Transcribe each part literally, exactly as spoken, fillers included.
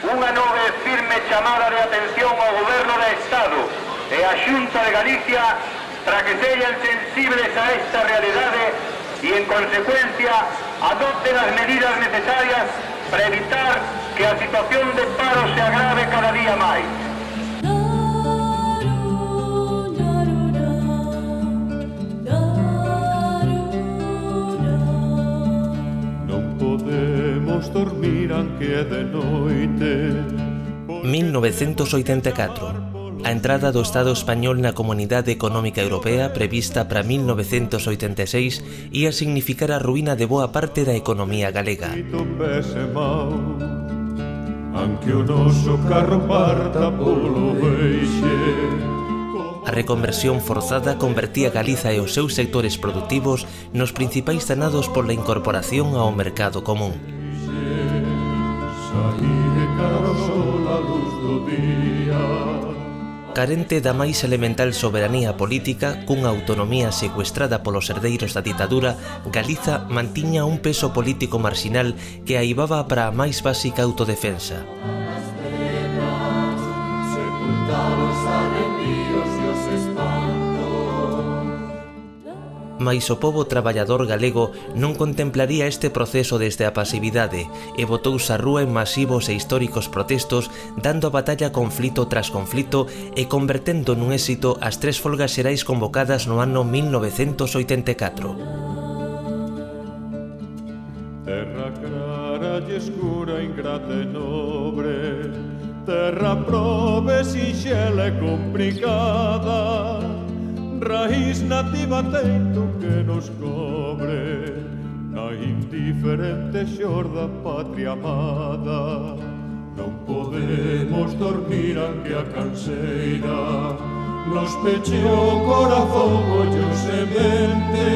unha nova e firme chamada de atención ao Goberno de Estado e a Xunta de Galicia para que sexan sensibles a esta realidade e, en consecuencia, adopten as medidas necesarias para evitar que a situación de paro se agrave cada día máis. Non podemos dormir aunque é de noite. mil novecentos oitenta e catro. A entrada do Estado español na Comunidade Económica Europea prevista para mil novecentos oitenta e seis ia significar a ruína de boa parte da economía galega. A reconversión forzada convertía Galiza e os seus sectores productivos nos principais danados pola incorporación ao mercado común. Carente da máis elemental soberanía política, cunha autonomía secuestrada polos herdeiros da ditadura, Galiza mantiña un peso político marxinal que aivaba para a máis básica autodefensa. Mais o pobo traballador galego non contemplaría este proceso desde a pasividade e botouse á rúa en masivos e históricos protestos, dando a batalla conflito tras conflito e convertendo nun éxito as tres folgas xerais convocadas no ano mil novecentos oitenta e catro. Terra clara e escura, ingrata e nobre, terra probe, sinxela e complicada, raíz nativa teito que nos cobre na indiferente xorda patria amada. Non podemos dormir aunque a canseira nos peche o corazón, ollo semente.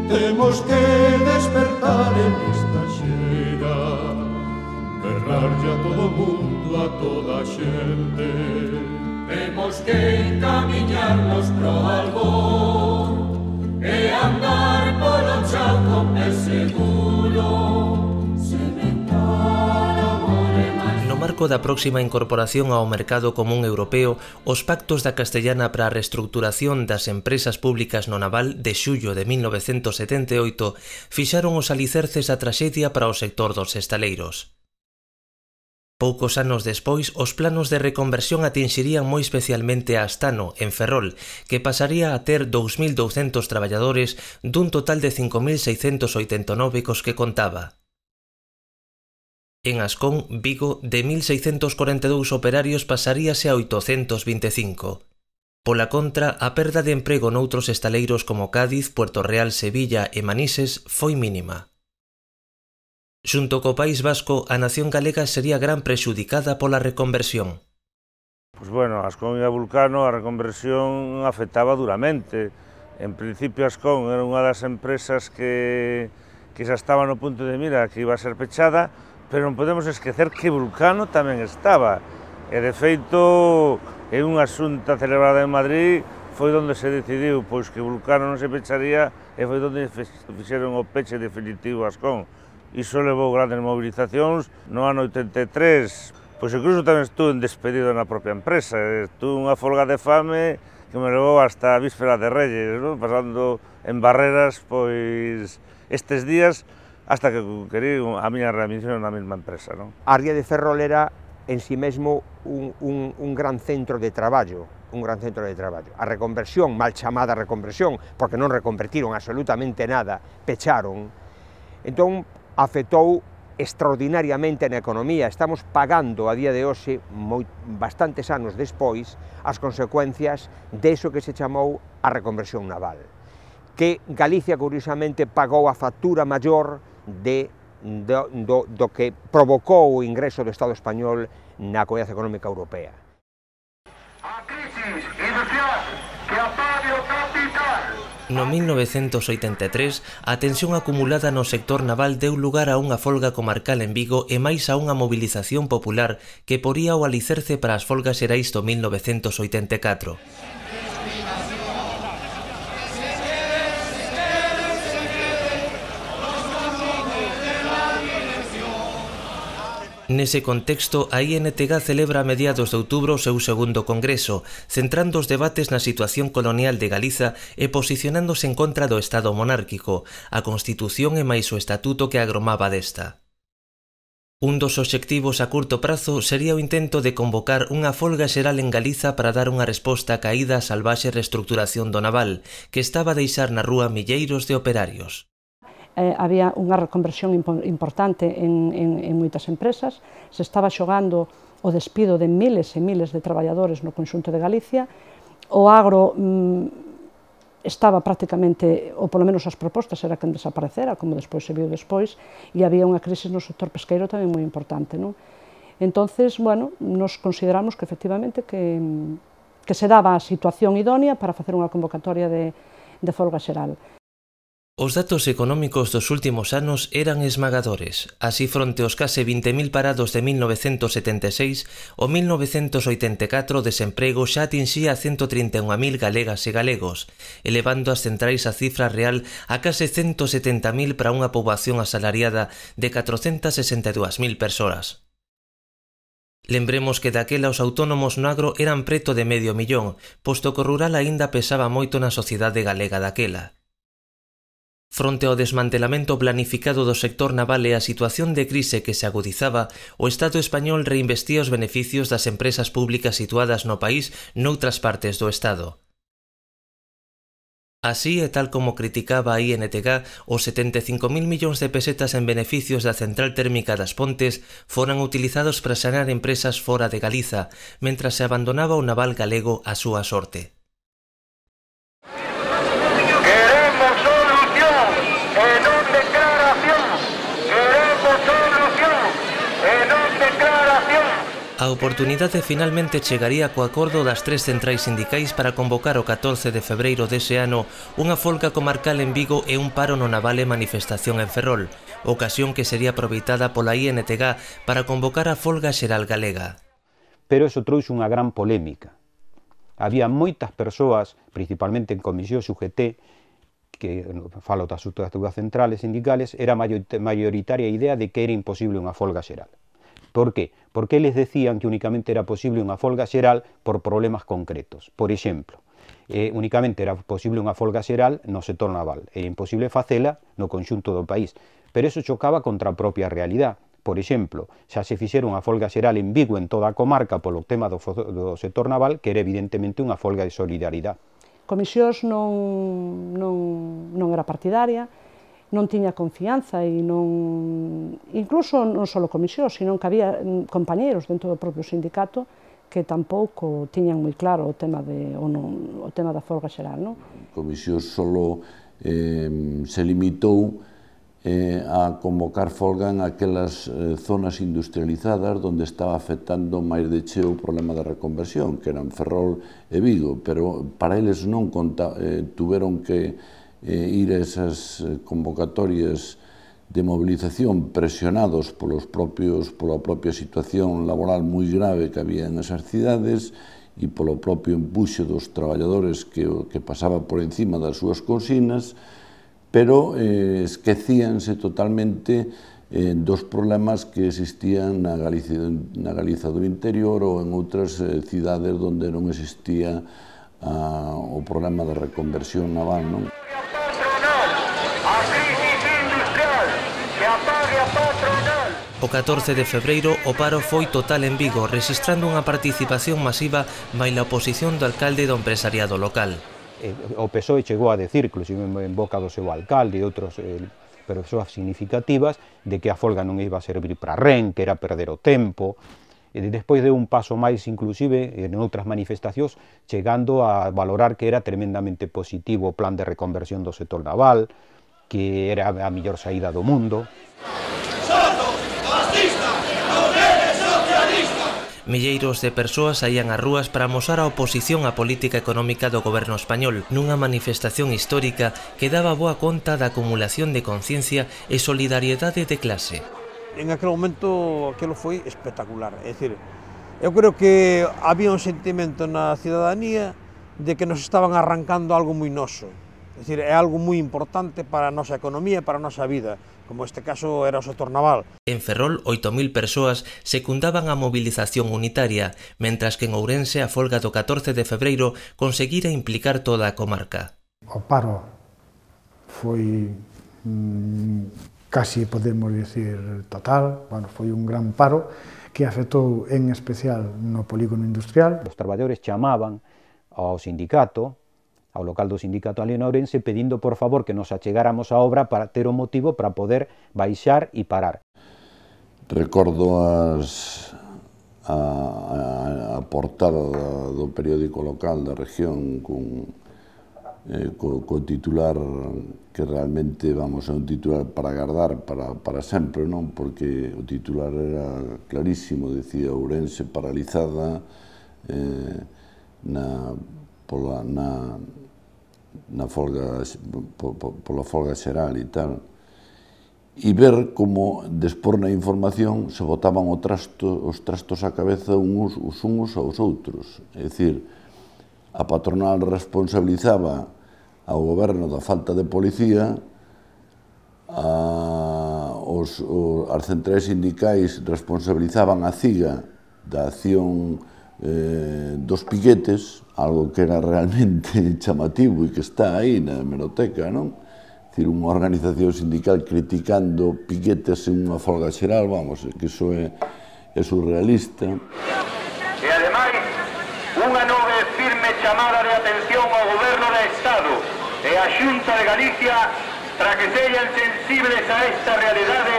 Temos que despertar en esta xeira, berrarlle a todo mundo, a toda a xente. Temos que encamiñarnos pro albor e andar polo chao con pé seguro, sementar amor e máis. No marco da próxima incorporación ao mercado común europeo, os pactos da Castellana para a reestruturación das empresas públicas no naval de xullo de mil novecentos setenta e oito fixaron os alicerces da traxedia para o sector dos estaleiros. Poucos anos despois, os planos de reconversión atinxirían moi especialmente a Astano, en Ferrol, que pasaría a ter dous mil douscentos traballadores dun total de cinco mil seiscentos oitenta e nove cos que contaba. En Ascón, Vigo, de mil seiscentos corenta e dous operarios pasaríase a oitocentos vinte e cinco. Pola contra, a perda de emprego noutros estaleiros como Cádiz, Puerto Real, Sevilla e Manises foi mínima. Xunto co País Vasco, a nación galega sería gran prexudicada pola reconversión. Pois bueno, Ascón e a Vulcano a reconversión afectaba duramente. En principio Ascón era unha das empresas que, que xa estaba no punto de mira que iba a ser pechada, pero non podemos esquecer que Vulcano tamén estaba. E de feito, en unha xunta celebrada en Madrid, foi onde se decidiu pois que Vulcano non se pecharía e foi onde fixeron o peche definitivo a Ascón. Iso levou grandes movilizacións. No ano oitenta e tres, pois incluso tamén estuve despedido na propia empresa. Estuve unha folga de fame que me levou hasta a víspera de Reyes, ¿no? Pasando en barreras, pois, estes días, hasta que querí a miña readmisión na mesma empresa, ¿no? A ría de Ferrol era en si mesmo un, un, un gran centro de traballo, un gran centro de traballo. A reconversión, mal chamada reconversión, porque non reconvertiron absolutamente nada, pecharon. Entón, afectou extraordinariamente na economía. Estamos pagando a día de hoxe, moi, bastantes anos despois, as consecuencias deso que se chamou a reconversión naval, que Galicia, curiosamente, pagou a factura maior de, do, do, do que provocou o ingreso do Estado español na Comunidade Económica Europea. A crisis industrial que apague o capital. No mil novecentos oitenta e tres, a tensión acumulada no sector naval deu lugar a unha folga comarcal en Vigo e máis a unha movilización popular que poría o alicerce para as folgas xerais do mil novecentos oitenta e catro. Nese contexto, a I N T G celebra a mediados de outubro o seu segundo congreso, centrando os debates na situación colonial de Galiza e posicionándose en contra do Estado monárquico, a Constitución e máis o Estatuto que agromaba desta. Un dos obxectivos a curto prazo sería o intento de convocar unha folga xeral en Galiza para dar unha resposta á caída a salvaxe reestructuración do naval, que estaba a deixar na rúa milleiros de operarios. Eh, había unha reconversión impo importante en, en, en moitas empresas, se estaba xogando o despido de miles e miles de traballadores no conxunto de Galicia, o agro mm, estaba prácticamente, ou polo menos as propostas era que desaparecera, como despois se viu despois, e había unha crise no sector pesqueiro tamén moi importante, non? Entonces, bueno, nos consideramos que efectivamente que, que se daba a situación idónea para facer unha convocatoria de, de folga xeral. Os datos económicos dos últimos anos eran esmagadores. Así, fronte aos case vinte mil parados de mil novecentos setenta e seis, o mil novecentos oitenta e catro o desemprego xa atinxía a ciento trinta e un mil galegas e galegos, elevando as centrais a cifra real a case ciento setenta mil para unha poboación asalariada de catrocentas sesenta e dúas mil persoas. Lembremos que daquela os autónomos no agro eran preto de medio millón, posto que o rural aínda pesaba moito na sociedade galega daquela. Fronte ao desmantelamento planificado do sector naval e a situación de crise que se agudizaba, o Estado español reinvestía os beneficios das empresas públicas situadas no país noutras partes do Estado. Así, e tal como criticaba a I N T G, os setenta e cinco mil millóns de pesetas en beneficios da central térmica das Pontes foran utilizados para sanear empresas fora de Galiza, mentras se abandonaba o naval galego á súa sorte. A oportunidade finalmente chegaría co acordo das tres centrais sindicais para convocar o catorce de febreiro dese ano unha folga comarcal en Vigo e un paro no naval e manifestación en Ferrol, ocasión que sería aproveitada pola I N T G para convocar a folga xeral galega. Pero eso trouxe unha gran polémica. Había moitas persoas, principalmente en comisións U G T, que falo das estruturas centrales sindicales, era mayoritaria a idea de que era imposible unha folga xeral. Por qué? Porque eles decían que únicamente era posible unha folga xeral por problemas concretos. Por exemplo, eh, únicamente era posible unha folga xeral no sector naval, e imposible facela no conxunto do país. Pero eso chocaba contra a propia realidade. Por exemplo, xa se fixera unha folga xeral en Vigo en toda a comarca polo tema do, do sector naval, que era evidentemente unha folga de solidaridade. Comisións non, non, non era partidaria, non tiña confianza e non, incluso non só comisións, sino que había compañeiros dentro do propio sindicato que tampouco tiñan moi claro o tema, de, o non, o tema da folga xeral. Non? Comisións solo eh, se limitou eh, a convocar folga en aquelas eh, zonas industrializadas onde estaba afectando máis de cheo o problema da reconversión, que eran Ferrol e Vigo, pero para eles non conta, eh, tuveron que Eh, ir a esas convocatorias de movilización presionados polos propios, pola propia situación laboral moi grave que había en esas cidades e polo propio empuxo dos traballadores que, que pasaba por encima das súas consignas, pero eh, esquecíanse totalmente eh, dos problemas que existían na Galiza, na Galiza do interior ou en outras eh, cidades onde non existía ah, o problema da reconversión naval, non? O catorce de febreiro o paro foi total en Vigo, rexistrando unha participación masiva maila a oposición do alcalde e do empresariado local. O P S O E chegou a decir, inclusive en boca do seu alcalde e outros eh, persoas significativas, de que a folga non iba a servir para ren, que era perder o tempo. E despois de un paso máis, inclusive, en outras manifestacións, chegando a valorar que era tremendamente positivo o plan de reconversión do sector naval, que era a mellor saída do mundo. Milleiros de persoas saían ás rúas para amosar a oposición á política económica do goberno español, nunha manifestación histórica que daba boa conta da acumulación de conciencia e solidariedade de clase. En aquel momento aquilo foi espectacular, é dicir, eu creo que había un sentimento na cidadanía de que nos estaban arrancando algo moi noso, é dicir, é algo moi importante para a nosa economía e para a nosa vida, como este caso era o sector naval. En Ferrol, oito mil persoas secundaban a movilización unitaria, mentras que en Ourense a folga do catorce de febreiro conseguira implicar toda a comarca. O paro foi mmm, casi, podemos dicir, total, bueno, foi un gran paro que afectou en especial no polígono industrial. Os traballadores chamaban ao sindicato, ao local do sindicato ali en Ourense, pedindo por favor que nos achegáramos á obra para ter o motivo para poder baixar e parar. Recordo as, a, a, a portada do periódico local da región con, eh, co, co titular que realmente, vamos, é un titular para agardar para, para sempre, non? Porque o titular era clarísimo, decía Ourense paralizada eh, na, pola, na, na folga, pola folga xeral e tal, e ver como, despor na información, se botaban o trasto, os trastos á cabeza uns, os uns aos outros. É dicir, a patronal responsabilizaba ao goberno da falta de policía, a, os, os, as centrais sindicais responsabilizaban a CIGA da acción eh, dos piquetes, algo que era realmente chamativo e que está aí na hemeroteca, non? É dicir, unha organización sindical criticando piquetes en unha folga xeral, vamos, que iso é, é surrealista. E ademais, unha nova e firme chamada de atención ao Goberno de Estado e a Xunta de Galicia para que sexan sensibles a esta realidade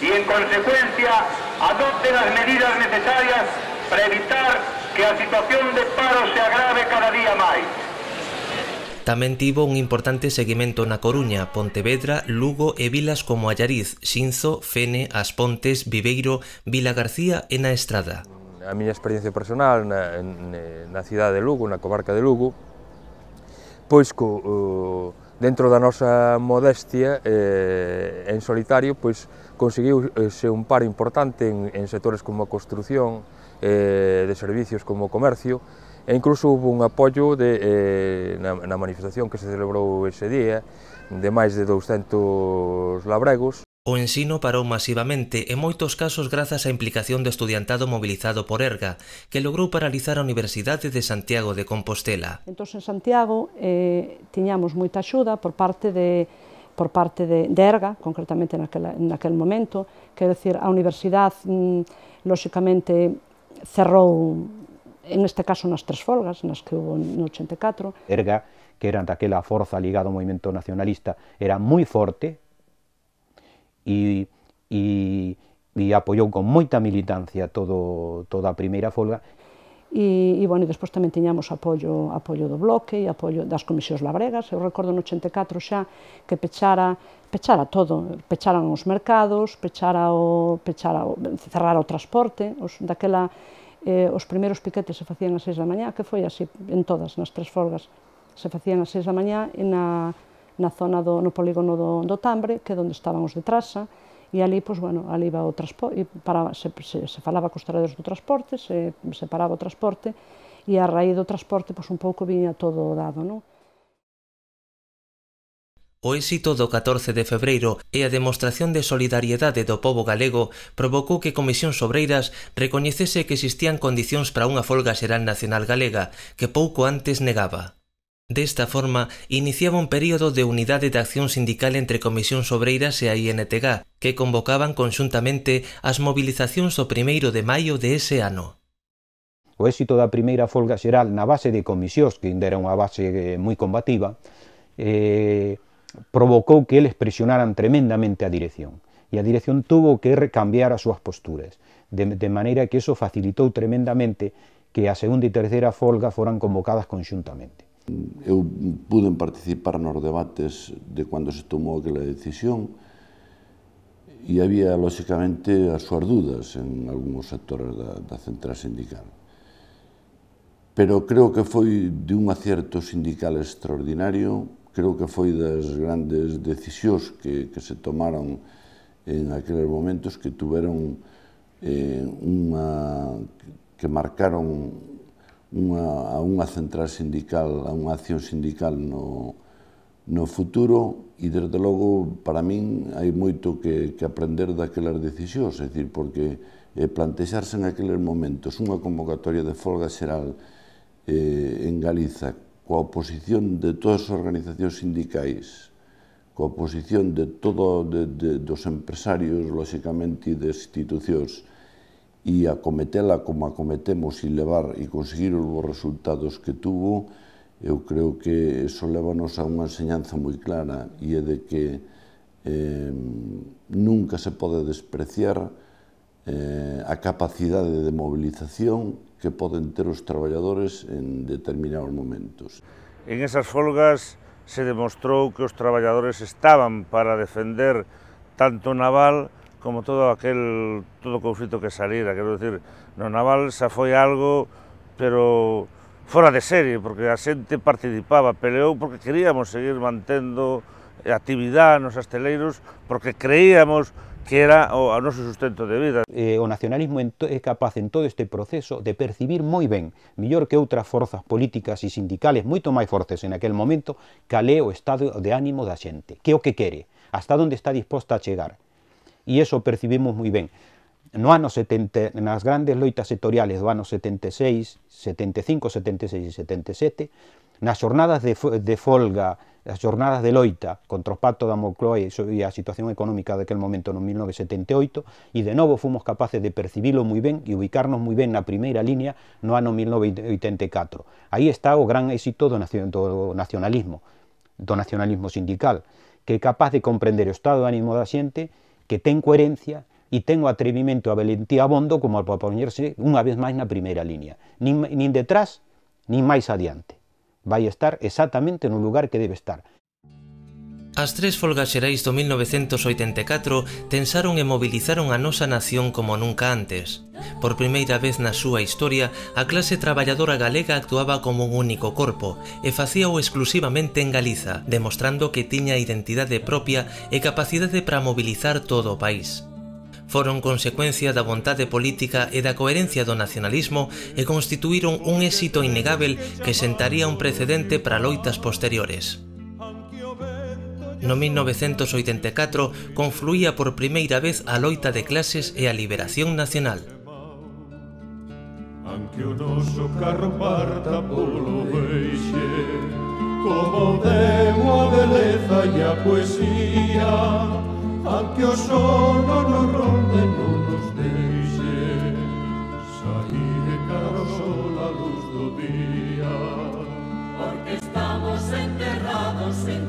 e, en consecuencia, adopten as medidas necesarias para evitar que a situación de paro se agrave cada día máis. Tamén tivo un importante seguimento na Coruña, Pontevedra, Lugo e vilas como Allariz, Xinzo, Fene, As Pontes, Viveiro, Vila García e na Estrada. A miña experiencia personal na, na cidade de Lugo, na comarca de Lugo, pois co, uh, dentro da nosa modestia eh, en solitario, pois conseguiuse un paro importante en, en sectores como a construción, eh, de servicios como o comercio, e incluso hubo un apoio de, eh, na, na manifestación que se celebrou ese día de máis de douscentos labregos. O ensino parou masivamente, en moitos casos grazas á implicación do estudiantado mobilizado por Erga, que logrou paralizar a Universidade de Santiago de Compostela. Entón, en Santiago, eh, tiñamos moita axuda por parte de por parte de, de Erga, concretamente naquela, naquel momento, quero dicir, a Universidade, mm, lóxicamente, cerrou, en este caso, nas tres folgas, nas que hubo no ochenta e catro. Erga, que era daquela forza ligada ao movimento nacionalista, era moi forte e, e, e apoiou con moita militancia todo, toda a primeira folga. E, e, bueno, e despois tamén tiñamos apoio, apoio do Bloque e apoio das comisións labregas. Eu recordo no ochenta e catro xa que pechara, pechara todo, pecharan os mercados, pechara o, pechara o, cerrara o transporte, os, daquela, eh, os primeiros piquetes se facían ás seis da mañá, que foi así en todas, nas tres folgas, se facían ás seis da mañá e na, na zona do, no polígono do, do Tambre, que é onde estaban os de Trasa, e ali, pois, bueno, ali iba o transporte, se, se, se falaba cos traballadores do transporte, se, se paraba o transporte, e a raíz do transporte, pois, un pouco viña todo dado, non? O éxito do catorce de febreiro e a demostración de solidariedade do pobo galego provocou que Comisións Obreiras recoñecese que existían condicións para unha folga xeral nacional galega, que pouco antes negaba. Desta forma, iniciaba un período de unidade de acción sindical entre Comisións Obreiras e a I N T G, que convocaban conxuntamente as movilizacións do primeiro de maio de ese ano. O éxito da primeira folga xeral na base de comisións, que ainda era unha base moi combativa, eh, provocou que eles presionaran tremendamente a dirección. E a dirección tuvo que recambiar as súas posturas, de, de maneira que eso facilitou tremendamente que a segunda e terceira folga foran convocadas conxuntamente. Eu pude participar nos debates de cando se tomou aquela decisión e había, lóxicamente, as súas dudas en algúns sectores da, da central sindical. Pero creo que foi de un acierto sindical extraordinario, creo que foi das grandes decisións que, que se tomaron en aqueles momentos que tuveron eh, unha, que marcaron Unha, a unha central sindical, a unha acción sindical no, no futuro, e desde logo, para min, hai moito que, que aprender daquelas decisións, é dicir, porque eh, plantexarse en aqueles momentos unha convocatoria de folga xeral eh, en Galiza coa oposición de todas as organizacións sindicais, coa oposición de todo de, de, dos empresarios, lóxicamente, e de institucións, e acometela como acometemos e levar e conseguir os resultados que tuvo, eu creo que eso lévanos a unha enseñanza moi clara, e é de que eh, nunca se pode despreciar eh, a capacidade de movilización que poden ter os traballadores en determinados momentos. En esas folgas se demostrou que os traballadores estaban para defender tanto o naval como todo aquel todo o conflito que salira. Quero dicir, no naval xa foi algo, pero fora de serie, porque a xente participaba, peleou porque queríamos seguir mantendo actividade nos asteleiros, porque creíamos que era o, o noso sustento de vida. Eh, o nacionalismo é capaz en todo este proceso de percibir moi ben, mellor que outras forzas políticas e sindicales moito máis fortes en aquel momento, cal é o estado de ánimo da xente, que é o que quere, hasta onde está disposta a chegar. E iso percibimos moi ben. No ano setenta, nas grandes loitas sectoriales do ano setenta e seis, setenta e cinco, setenta e seis e setenta e sete, nas xornadas de, de folga, as xornadas de loita contra o pacto da Moncloa e a situación económica daquel momento no mil novecentos setenta e oito, e de novo fomos capaces de percibilo moi ben e ubicarnos moi ben na primeira línea no ano mil novecentos oitenta e catro. Aí está o gran éxito do nacionalismo, do nacionalismo sindical, que é capaz de comprender o estado de ánimo da xente, que ten coherencia e ten o atrevimento e a valentía abondo como para poñerse unha vez máis na primeira línea. Nin, nin detrás, nin máis adiante. Vai estar exactamente no lugar que debe estar. As tres folgas xerais do mil novecentos oitenta e catro tensaron e movilizaron a nosa nación como nunca antes. Por primeira vez na súa historia, a clase traballadora galega actuaba como un único corpo e facíao exclusivamente en Galiza, demostrando que tiña identidade propia e capacidade para mobilizar todo o país. Foron consecuencia da vontade política e da coherencia do nacionalismo e constituíron un éxito innegável que sentaría un precedente para loitas posteriores. No mil novecentos oitenta e catro confluía por primeira vez a loita de clases e a liberación nacional. Anque o noso carro parta polo veixe, como demo a beleza e a poesía, anque o sono nos ronde non nos deixe sair e cara o sol a luz do día, porque estamos enterrados en